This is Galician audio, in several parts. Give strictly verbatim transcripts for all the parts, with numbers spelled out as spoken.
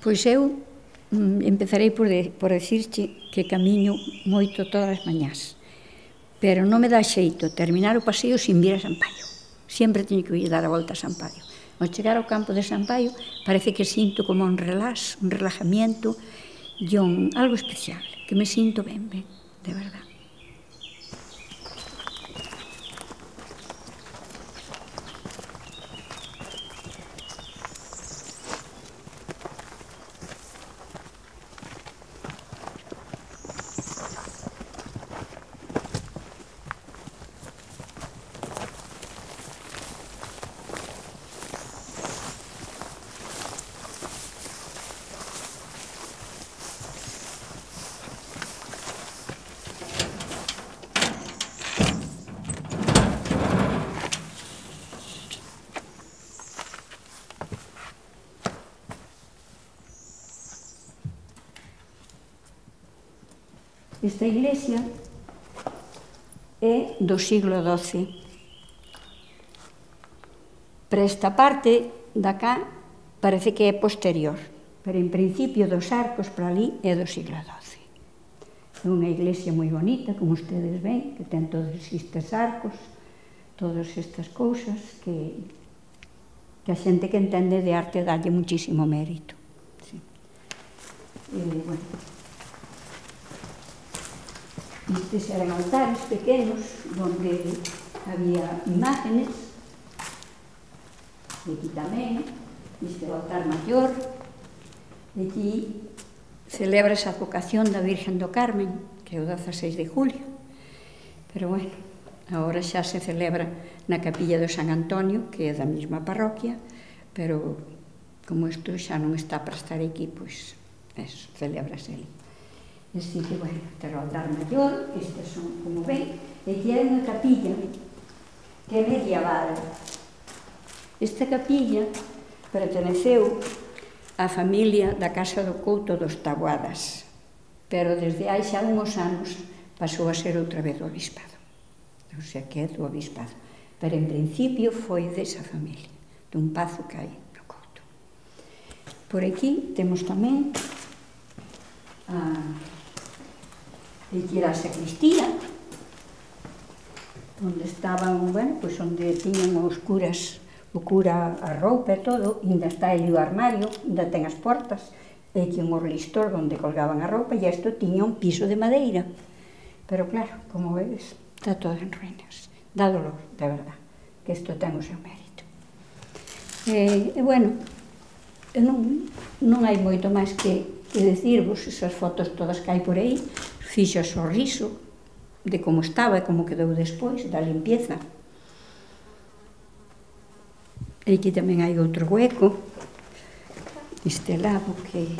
Pois eu empezarei por dicirche que camiño moito todas as mañás, pero non me dá xeito terminar o paseo sin vir a Sampaio. Sempre teño que ir dar a volta a Sampaio. Ao chegar ao campo de Sampaio parece que sinto como un relax, un relajamiento e un algo especial, que me sinto ben, ben, de verdad. Esta iglesia é do siglo doce. Para esta parte da cá parece que é posterior, pero en principio dos arcos para ali é do siglo doce. É unha iglesia moi bonita, como ustedes ven, que ten todos estes arcos, todas estas cousas que, que a xente que entende de arte dalle muchísimo mérito. Sí. E, bueno, estes eran altares pequenos onde había imágenes. E aquí tamén, este é o altar maior. E aquí celebra esa advocación da Virgen do Carmen, que é o dezaseis de julio. Pero, bueno, agora xa se celebra na capilla do San Antonio, que é da mesma parroquia, pero como isto xa non está para estar aquí, pois, eso, celebrase ali. Así que, bueno, este é o altar maior, estes son, como ven, e aquí hai unha capilla que é medieval. Esta capilla perteneceu á familia da Casa do Couto dos Taboadas, pero desde hai xa unhos anos pasou a ser outra vez do obispado. O sea, que é do obispado. Pero en principio foi desa familia, dun pazo que hai no Couto. Por aquí temos tamén a... Aquí era a sacristía, onde estaban, bueno, pois onde tiñan os curas, o cura a roupa e todo, ainda está aí o armario, ainda ten as portas, e aquí un orlistor onde colgaban a roupa, e isto tiña un piso de madeira. Pero claro, como vedes, está todo en ruínas. Dá dolor, de verdad, que isto ten o seu mérito. E, e bueno, non, non hai moito máis que, que decirvos, esas fotos todas que hai por aí, fixo o sorriso de como estaba e como quedou despois da limpieza. E aquí tamén hai outro hueco, este lado que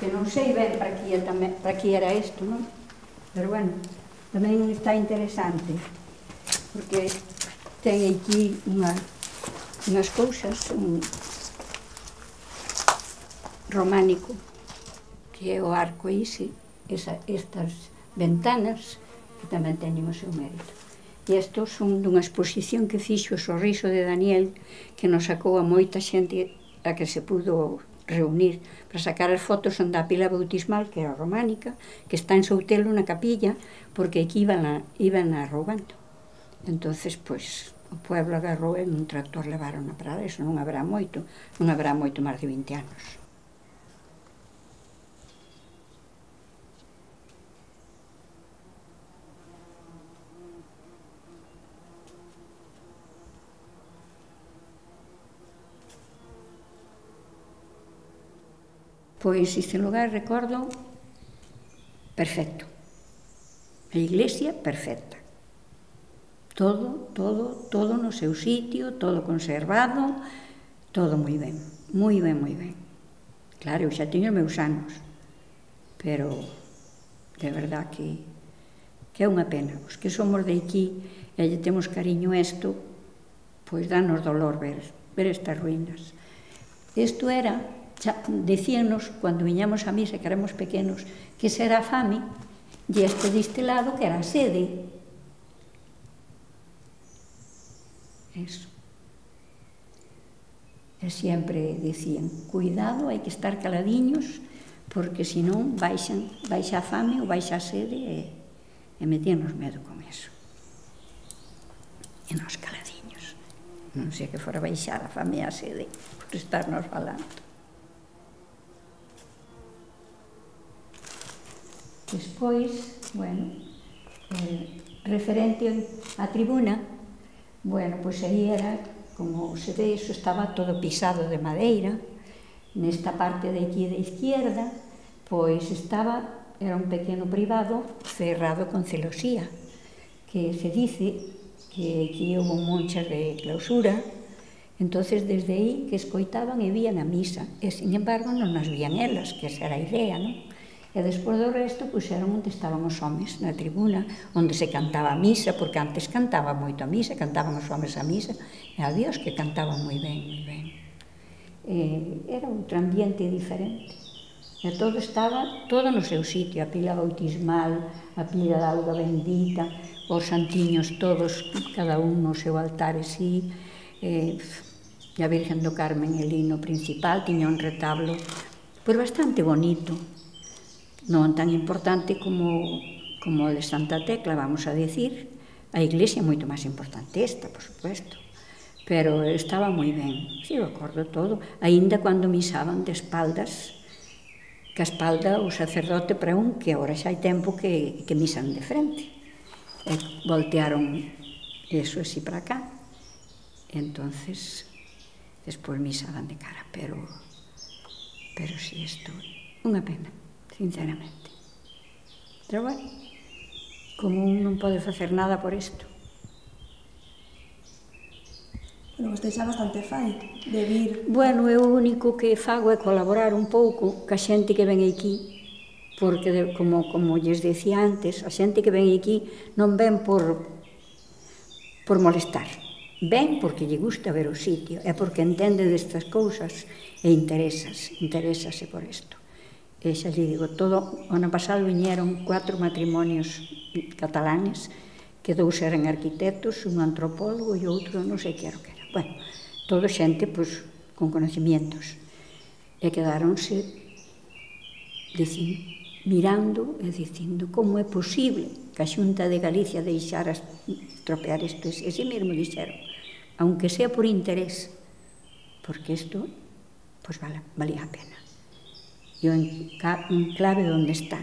que non sei ben para que, tamén, para que era isto, non? Pero bueno, tamén está interesante, porque ten aquí unha, unhas cousas, un románico, que é o arco ise, esa, estas ventanas, que tamén teñen o seu mérito. E estos son dunha exposición que fixo o Sorriso de Daniel, que nos sacou a moita xente a que se pudo reunir para sacar as fotos onde a pila bautismal, que era románica, que está en Soutelo na capilla, porque aquí iban a, iban a roubando. Entonces, pois, o pueblo agarrou e nun tractor levaron a parada, eso non habrá moito, non habrá moito máis de vinte anos. Pois este lugar, recordo, perfecto. A iglesia, perfecta. Todo, todo, todo no seu sitio, todo conservado, todo moi ben, moi ben, moi ben. Claro, eu xa teño meus anos, pero de verdad que, que é unha pena. Os que somos de aquí e lle temos cariño a isto, pois danos dolor ver, ver estas ruínas. Isto era... Decíanos, cando viñamos a misa, que éramos pequenos, que ese era a fame, e este deste lado que era a sede. Eso. E sempre dicían, cuidado, hai que estar caladiños, porque senón baixan, baixa a fame ou baixa a sede e, e metíanos medo con eso. E nos caladiños. Non sei que fora baixar a fame e a sede por estarnos falando. Despois, bueno, eh, referente á tribuna, bueno, pois aí era, como se ve, iso estaba todo pisado de madeira. Nesta parte de aquí da izquierda, pois estaba, era un pequeno privado cerrado con celosía, que se dice que aquí houve monchas de clausura, entonces desde aí que escoitaban e vían a misa, e sin embargo non nas vían elas, que esa era a idea, non? E despois do resto puxeron onde estaban os homes, na tribuna, onde se cantaba a misa, porque antes cantaba moito a misa, cantaban os homes a misa, e había os que cantaban moi ben, moi ben. Eh, era outro ambiente diferente. E todo estaba, todo no seu sitio, a pila bautismal, a pila da auga bendita, os santiños todos, cada un no seu altar e sí, eh, e a Virgen do Carmen, el hino principal, tiña un retablo, pois bastante bonito, non tan importante como, como o de Santa Tecla, vamos a decir, a iglesia é moito máis importante esta, por supuesto, pero estaba moi ben, si, eu acordo todo, aínda cando misaban de espaldas, que a espalda o sacerdote para un, que agora xa hai tempo que, que misan de frente, e voltearon eso así para cá, entonces despois misaban de cara, pero pero si isto, unha pena, sinceramente. Pero bueno, como un non pode facer nada por isto. Pero vostede xa bastante fai de vir. Bueno, eu o único que fago é colaborar un pouco ca xente que ven aquí, porque, de, como, como lles decía antes, a xente que ven aquí non ven por, por molestar. Ven porque lle gusta ver o sitio, é porque entende destas cousas e interesas, interésase por isto. E xa lle digo, todo, o ano pasado viñeron cuatro matrimonios catalanes, que dous eran arquitectos, un antropólogo e outro non sei que era o que era. Bueno, todo xente, pois, con conocimientos. E quedaronse dicindo, mirando e dicindo como é posible que a Xunta de Galicia deixara estropear isto. E ese mesmo dixeron, aunque sea por interés, porque isto, pois, vale, valía a pena. E o enclave onde está.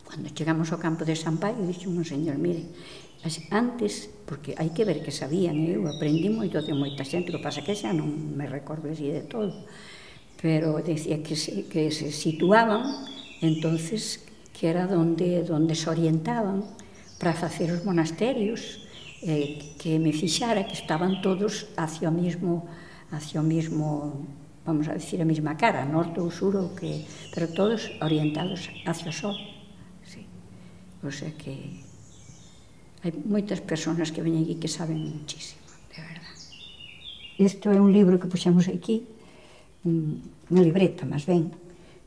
Cando chegamos ao campo de San Paio, dixo un señor, mire, antes, porque hai que ver que sabían, eu aprendi moito de moita xente, que pasa que xa non me recordo así de todo, pero decía que se, que se situaban, entonces, que era donde, donde se orientaban para facer os monasterios, eh, que me fixara que estaban todos hacia o mismo, hacia o mismo, vamos a decir, a mesma cara, norte ou sur, ou que, pero todos orientados hacia o sol. Sí. O sea que hai moitas persoas que veñen aquí que saben muchísimo, de verdade. Isto é un libro que puxemos aquí, un, unha libreta, máis ben,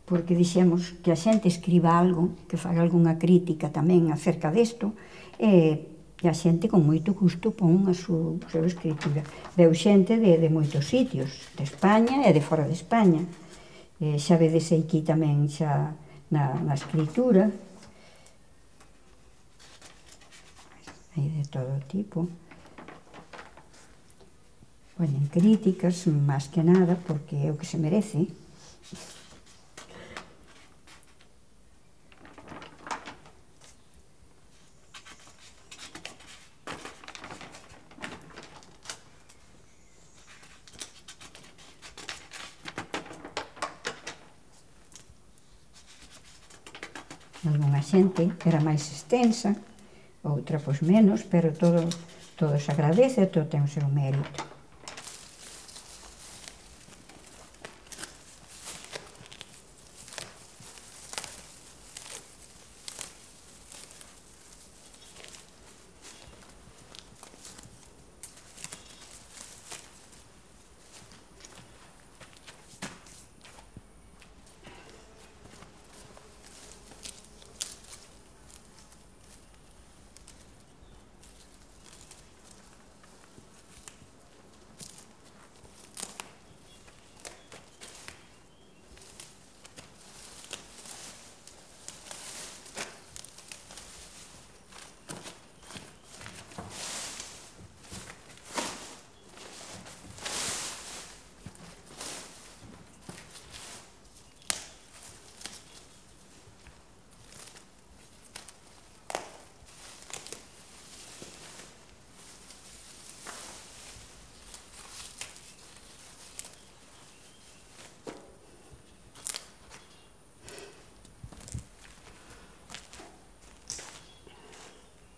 porque dixemos que a xente escriba algo, que faga algunha crítica tamén acerca desto, e, e a xente con moito gusto pon a súa escritura. Veu xente de, de moitos sitios, de España e de fora de España. E xa vedes aquí tamén xa na, na escritura, hai de todo tipo. Poñen críticas, máis que nada, porque é o que se merece. Algúna xente era máis extensa, outra pois menos, pero todo, todo se agradece, todo ten o seu mérito.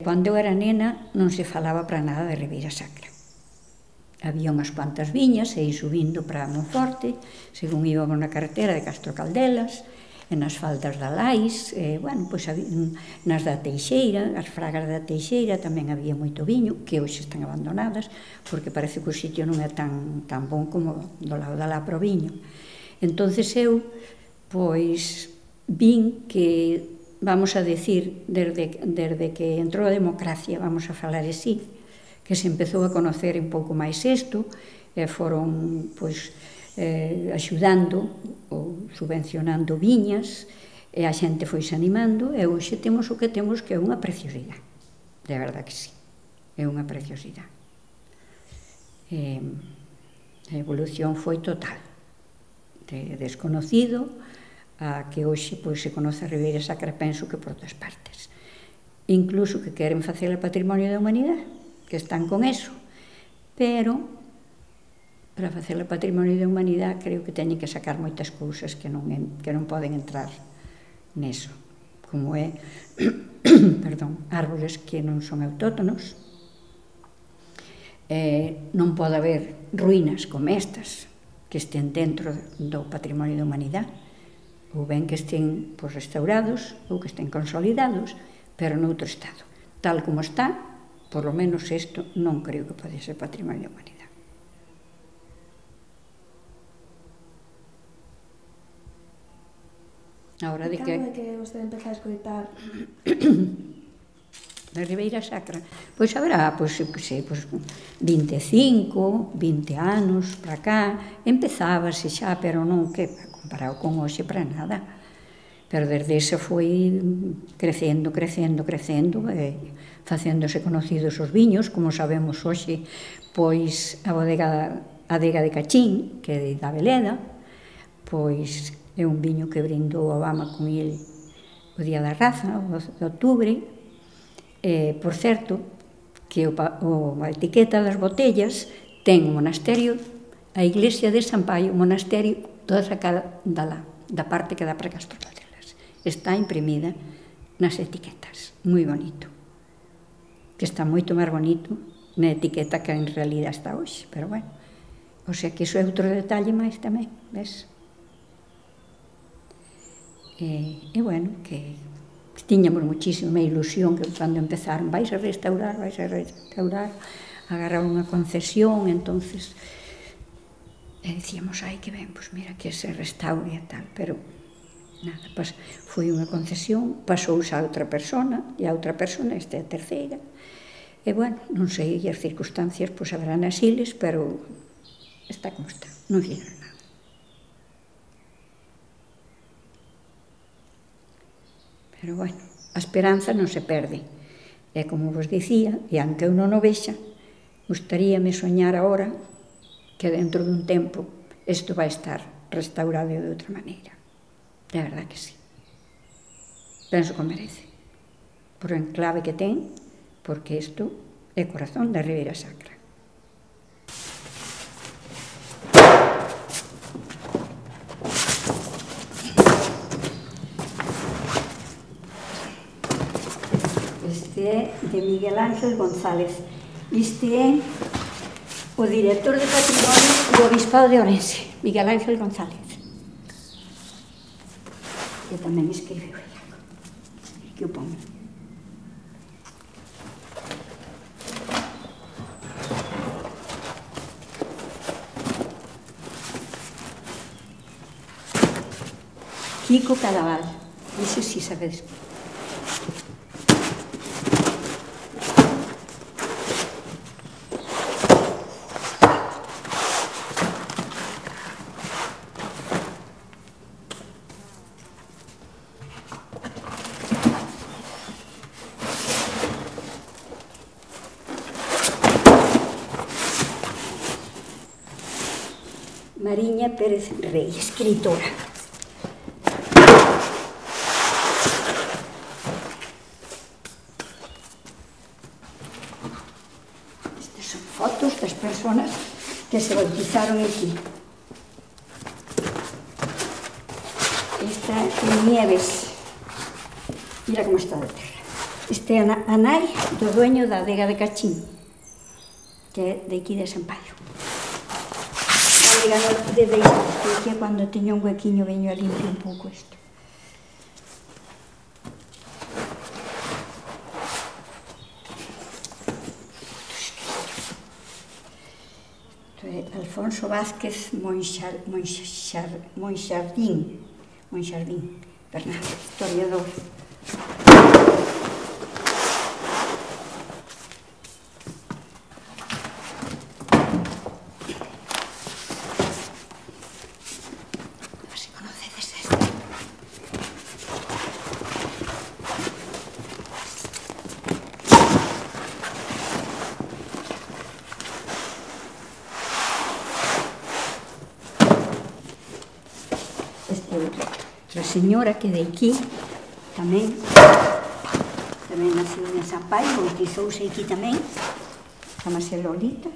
Cando eu era nena non se falaba para nada de Ribeira Sacra. Había unhas cuantas viñas e subindo para Monforte, según íbamos na carretera de Castro Caldelas, e nas faldas da Lais, e, bueno, pois, nas da Teixeira, as fragas da Teixeira tamén había moito viño, que hoxe están abandonadas, porque parece que o sitio non é tan, tan bon como do lado da Lapra o viño. Entonces eu, pois, vin que, vamos a decir, desde, desde que entrou a democracia, vamos a falar así, que se empezou a conocer un pouco máis isto, e foron, pois, eh, axudando ou subvencionando viñas, e a xente foi se animando, e hoxe temos o que temos, que é unha preciosidade. De verdade que sí, é unha preciosidade. E a evolución foi total, de desconocido a que hoxe pois, se conoce a Ribeira Sacra, penso que por todas partes. Incluso que queren facer o patrimonio da humanidade, que están con eso, pero para facer o patrimonio da humanidade creo que teñen que sacar moitas cousas que non, que non poden entrar neso, como é perdón, árboles que non son autóctonos, eh, non pode haber ruínas como estas que estén dentro do patrimonio da humanidade, ou ben que estén pois, restaurados ou que estén consolidados, pero noutro estado. Tal como está, por lo menos isto non creo que pode ser patrimonio da humanidade. Ahora de que... Cando é que vostede empeza a escoitar na Ribeira Sacra? Pois haberá, pois, sei, pois, vinte e cinco, vinte anos para cá, empezábase xa, pero non que comparado con hoxe para nada. Pero desde ese foi crecendo, crecendo, crecendo, e facéndose conocidos os viños, como sabemos hoxe, pois a bodega, a adega de Cachín, que é da Veleda, pois é un viño que brindou Obama con ele o Día da Raza, o doce de outubro. Eh, por certo, que o, o, a etiqueta das botellas ten o monasterio, a iglesia de San Paio, o monasterio, toda sacada da, la, da parte que dá para Castro Caldelas. Está imprimida nas etiquetas, moi bonito. Que está moito máis bonito na etiqueta que en realidad está hoxe, pero bueno. O sea que iso é outro detalle máis tamén, ves? E, e bueno, que tiñamos muchísima ilusión que cando empezaron vais a restaurar, vais a restaurar, agarrar unha concesión, entonces e dicíamos, ai que ben, pois mira que se restaure e tal, pero nada, pas, foi unha concesión, pasouse a outra persona, e a outra persona, esta é a terceira, e bueno, non sei, as circunstancias pois haberán asiles, pero está como está, non fixeron nada. Pero, bueno, a esperanza non se perde. E, como vos dicía, e aunque eu non o vexa, gustaríame soñar agora que dentro dun tempo isto vai estar restaurado de outra maneira. De verdade que sí. Penso que merece. Por o enclave que ten, porque isto é corazón da Ribeira Sacra. Este é de Miguel Ángel González. Este é o director de patrimonio do Obispado de Ourense, Miguel Ángel González. Que tamén escribeu algo. Que o pongo. Kiko Cadaval. Iso si sabedes. Mariña Pérez Rey, escritora. Estas son fotos das personas que se bautizaron aquí. Esta é Nieves. Mira como está de terra. Este é a nai do dueño da adega de Cachín, que é de aquí de Sampaio. A adega de deixar isto aquí, cando teño un huequiño veño a limpiar un pouco isto. Isto é Alfonso Vázquez Monxar, Monxar, Monxardín, Monxardín, Bernardo, historiador. Outra señora que de aquí tamén tamén naciu en Sampaio, bautizouse aquí tamén, chamase Lolita.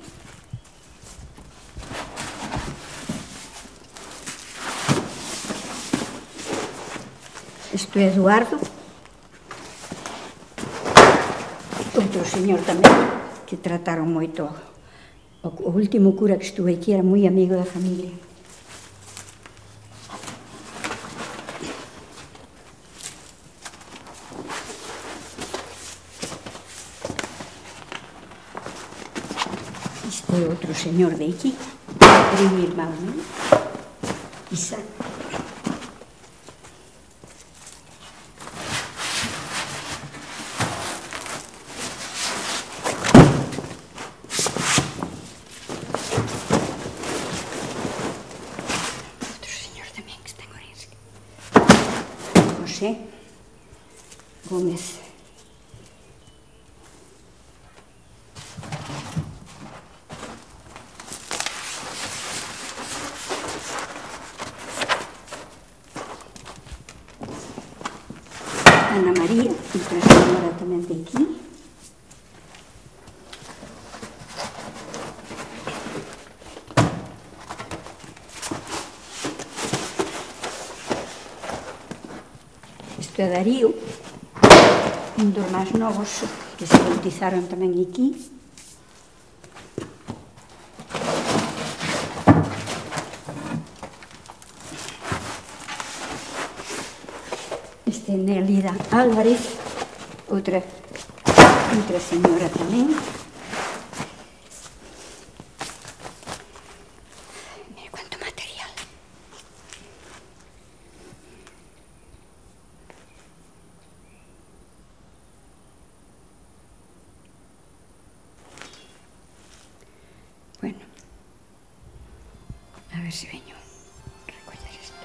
Isto é Eduardo, outro señor tamén que trataron moito. O último cura que estuve aquí era moi amigo da familia. Este é outro señor de aquí, primo irmão, non? Isaac. Outro señor tamén que está en Orense. José Gómez. Ana María, outra señora tamén de aquí. Isto é Darío, un dos máis novos que se bautizaron tamén aquí. Este é Nelida Álvarez, outra, outra señora tamén. Mira cuánto material. Bueno, a ver si veño a recoller isto.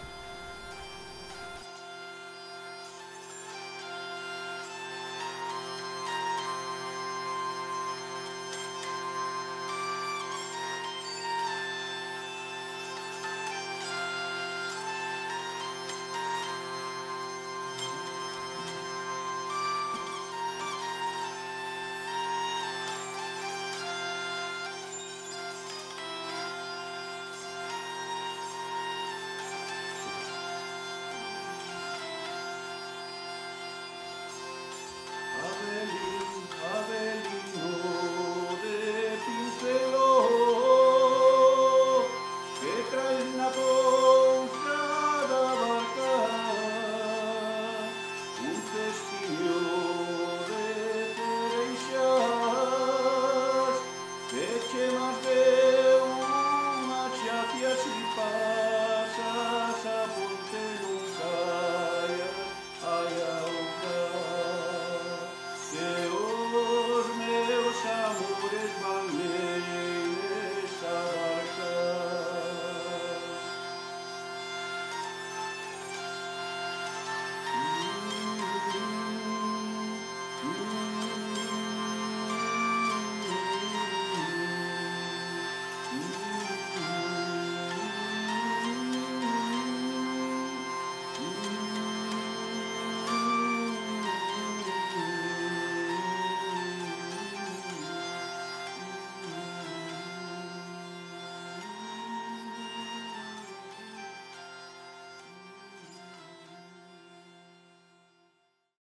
This